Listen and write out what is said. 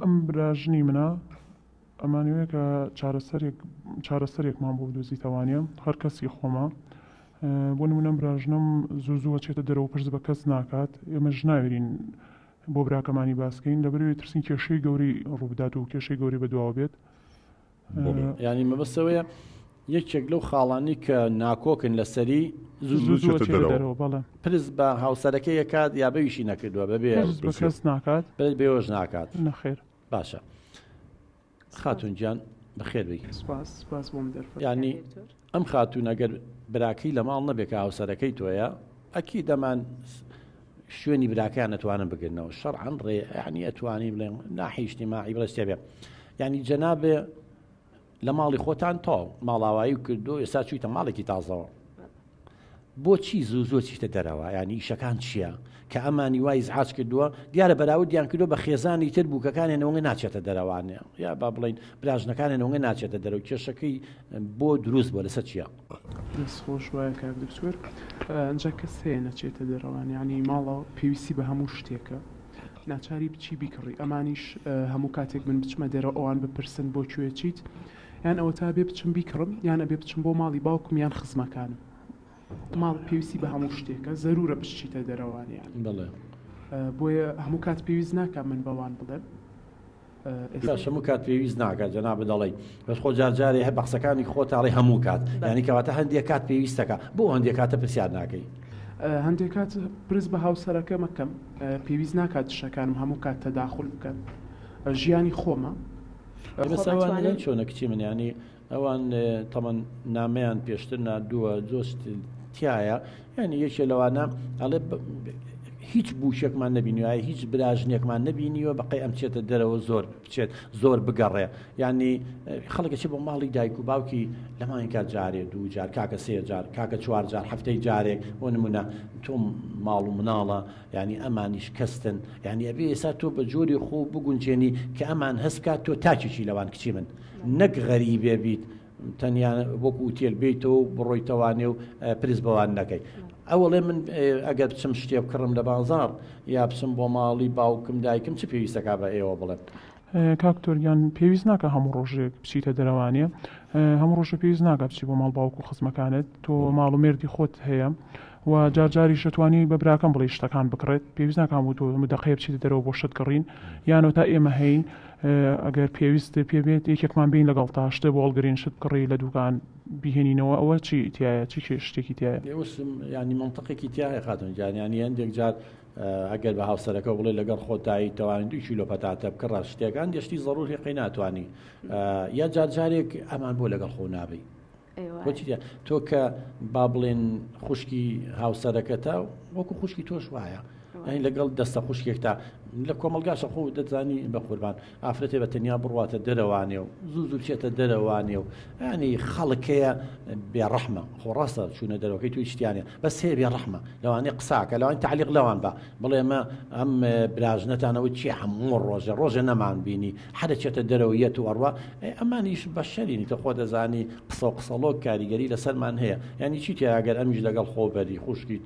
ئەم براژنی منە ئەمانەوێ کە چارەسەرێک چارەسەرێکمان بۆ بدۆزیتەوانە هەر کەسی خۆمە بۆ نمونە براژنم زوو زووە چێتە دەرەوە پرس بە کەس ناکات ئێمەش ناوێرین بۆ براکەمانی باسکەین لەبەرئەوەی ترسین کێشەی گەورەی ڕووبدات و کێشەی گەورەی بەدواوە بێت. یانی مەبەست ئەوەیە یەکێک لەو خاڵانەی کە ناکۆکن لەسەری زوو زوو زوو چێتە دەرەوە بەڵێ پرس بە هاوسەرەکەی ئەکات یا بەویشی نەکردووە بەبێ پرس بە کەس ناکات پرس بەوەش ناکات نەخێر باشە خاتون گیان بەخێر بێی سپاس سپاس بۆم دەرفەت یانی ئەم خاتوون ئەگەر براکەی لە ماڵ نەبێ کە هاوسەرەکەی تۆیە ئەکی دەمان شوێنی براکەیان ئەتوانن بگرنەوە شەرعەن ڕێ یعنی ئەتوانی بڵێن ناحی اجتماعی بڵێ شتێ بێ یعنی جەنابێ لە ماڵی خۆتان تاو ماڵاوایی کردو ئێستا چوویتە ماڵێکی تازەوە بۆچی زوو زوو چیتە دەرەوە یانی ئیشەکان چییە کە ئەمانی وای ئیزعاج کردووە دیارە بەراوردیان کردووە بە خێزانی تر بووکەکانیان ئەوەنگە ناچێتە دەرەوانێ یا با بڵین براژنەکانیان ئەوەنگە ناچێتە دەرەوە کێشەکەی بۆ دروست بووە لەسەر چییە؟ دەست خۆش وایە کاک دکتۆر ئەنجا کەس هەیە نەچێتە دەرەوان یانی ماڵەوە پێویستی بە هەموو شتێکە ناچاری بچی بیکڕی ئەمانیش هەموو کاتێک من بچمە دەرەوە ئەوان بپرسن بۆ کوێ چیت یان ئەوەتا بێ بچم بیکڕم یان ئەبێ بچم بۆ ماڵی باوکم یان خزمەکانم ماڵ پێویستی بە هەموو شتێکە زەرورە بچیتە دەرەوان یان بەڵێ بۆیە هەموو کات پێویست ناکا من بەوان بڵێم باش هەموو کات پێویست ناکات جەنابت دەڵێی بەس خۆ جار جارێ هەر بە قسەکانی خۆت ئەڵێی هەموو کات یانی کەواتە هەندێک کات پێویستەکە بۆ هەندێک کاتە پرسیار ناکەی؟ هەندێک کات پرس بە هاوسەرەکەم ئەکەم پێویست ناکات دشەکانم هەموو کات تەداخول بکەن ژیانی خۆمە. بەس ئەوان چۆنە کچی من یانی ئەوان تەمەن نامەیان پێشتر ناردووە جۆست تایە یعنی یەکێ لەوانە ئەڵێ هیچ بووشێکمان نەبینیوە هیچ براژنێکمان نەبینیوە بەقەی ئەم چێتە دەرەوە زۆر بچێت زۆر بگەڕێ ینی خەڵکە چی بۆ ماڵی دایک و باوکی لەمانکە جارێ دوو جار کاکە سێ جار کاکە چوار جار هەفتەی جارێک بۆ نمونە تۆم ماڵ و مناڵە یانی ئەمانیش کەستن یانی ئەبێ ئێستا تۆ بە جۆری خۆ بگونجێنی کە ئەمان هەست بکات تۆ تاکێکی لەوان کچی من نەک غەریبێ بیت تەنیا وەکو ئوتێل بێیتەوە و بڕۆیتەوانێ و پرس بەوان نەکەی ئەوەڵێ من ئەگەر بچم شتێ بکڕم لە بازاڕ یا بچم بۆ ماڵی باوکم دایکم چ پێویستەکا بە ئێوە بڵێم. کاک دکتۆر گیان پێویست ناکا هەموو ڕۆژێک بچیتە دەرەوانێ هەموو ڕۆژە پێویست ناکا بچی بۆ ماڵ باوک و خزمەکانت تۆ ماڵ و مێردی خۆت هەیە و جار جاریش دەتوانی بە براکەم بڵێی شتەکان بکڕێت پێویست ناکا هەموو تۆ هەموو دەقەیە بچیتە دەرەوە بۆ شت کڕین یانەوە تا ئێمە هەین ئەگەر پێویست پێ بێت یەکێکمان بین لەگەڵ تا شتێ بۆ هەڵگرین شت بکڕی لە دوکان بیهێنینەوە ئەوە چی تایە چی شتێکی تایە ینی منطقێکی تایە خاتون گیان ینی هەندێک جار ئەگەر بە هاوسەرەکە بڵێ لەگەڵ خۆتایی تەوانی دوو کیلۆ پەتاتە بکڕە شتێک هەندێک شتی زەڕوری قەی ناتوانی یا جار جارێک ئەمان بۆ لەگەڵ خۆ نابی بۆچی تۆ کە با بڵێن خوشکی هاوسەرەکەتە وەکو خوشکی تۆش وایە یعنی لەگەڵ دەستە خوشکێکتا لە کۆمەلگاشە خۆ دەتزانی بە قوربان ئافرەتێ بە تەنیا بڕواتە دەرەوانێ و زوو زوو بچێتە دەرەوانێ و ینی خەڵکەیە بێڕەحمە خۆ ڕاستە چوونە دەرەوەکەی توی شتیانە بەس هەیە بێڕەحمە لەوانەیە قساکە لەوان تعلیق لەوان بە بڵێ مە ئەم براژنەتانەوە چی هەموو ڕۆژێ ڕۆژێ نەمان بینی حەرە چێتە دەرەوە یەت و ئەڕوا ئەمانیش بەشەرینی تە خۆ دەزانی قسە و قسەڵۆک کاریگەری لەسەرمان هەیە یعنی چی تیا ئەگەر ئەمیش لەگەڵ خۆ بەری خوشکی.